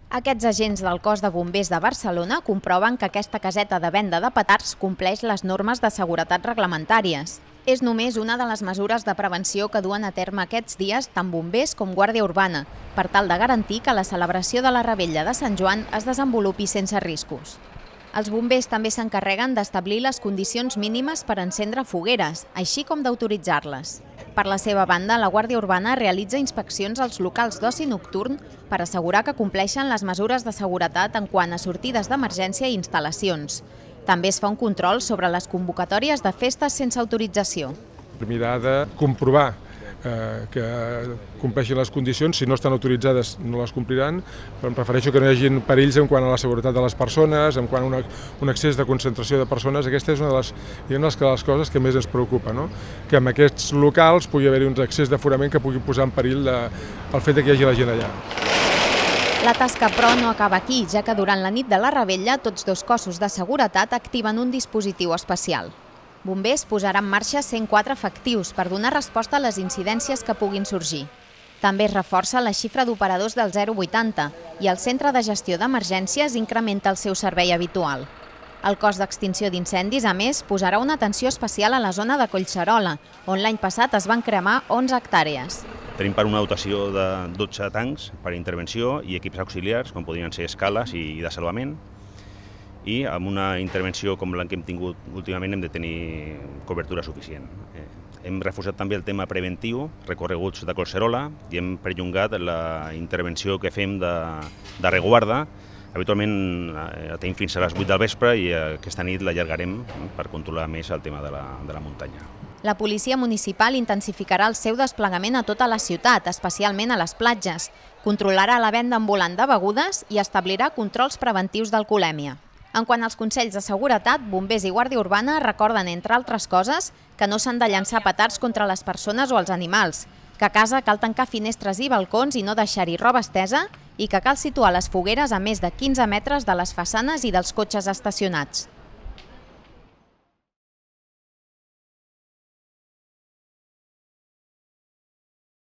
Aquests agents del Cos de Bombers de Barcelona comproven que aquesta caseta de venda de petards compleix les normes de seguretat reglamentàries. És només una de les mesures de prevenció que duen a terme aquests dies tant bombers com Guàrdia Urbana, per tal de garantir que la celebració de la Revetlla de Sant Joan es desenvolupi sense riscos. Els bombers també s'encarreguen d'establir les condicions mínimes per encendre fogueres, així com d'autoritzar-les. Per la seva banda, la Guàrdia Urbana realitza inspeccions als locals d'oci nocturn per assegurar que compleixen les mesures de seguretat en quant a sortides d'emergència i instal·lacions. També es fa un control sobre les convocatòries de festes sense autorització. Mirar de comprovar que compleixin les condicions, si no estan autoritzades no les compliran, però em prefereixo que no hi hagi perills en quant a la seguretat de les persones, en quant a un excés de concentració de persones. Aquesta és una de les coses que més ens preocupa, no? Que en aquests locals pugui haver-hi un excés d'aforament que pugui posar en perill el fet que hi hagi la gent allà. La tasca, però, no acaba aquí, ja que durant la nit de la Revetlla tots dos cossos de seguretat activen un dispositiu especial. Bombers posarà en marxa 104 efectius per donar resposta a les incidències que puguin sorgir. També es reforça la xifra d'operadors del 080 i el Centre de Gestió d'Emergències incrementa el seu servei habitual. El cos d'extinció d'incendis, a més, posarà una atenció especial a la zona de Collserola, on l'any passat es van cremar 11 hectàrees. Tenim per una dotació de 12 tancs per intervenció i equips auxiliars, com podrien ser escales i de salvament. I amb una intervenció com la que hem tingut últimament hem de tenir cobertura suficient. Hem reforçat també el tema preventiu, recorreguts de Collserola, i hem perllongat la intervenció que fem de reguarda. Habitualment la tenim fins a les 8 del vespre i aquesta nit l'allargarem per controlar més el tema de la muntanya. La policia municipal intensificarà el seu desplegament a tota la ciutat, especialment a les platges. Controlarà la venda ambulant de begudes i establirà controls preventius d'alcoholèmia. En quant als consells de seguretat, bombers i Guàrdia Urbana recorden, entre altres coses, que no s'han de llançar petards contra les persones o els animals, que a casa cal tancar finestres i balcons i no deixar-hi roba estesa i que cal situar les fogueres a més de 15 metres de les façanes i dels cotxes estacionats.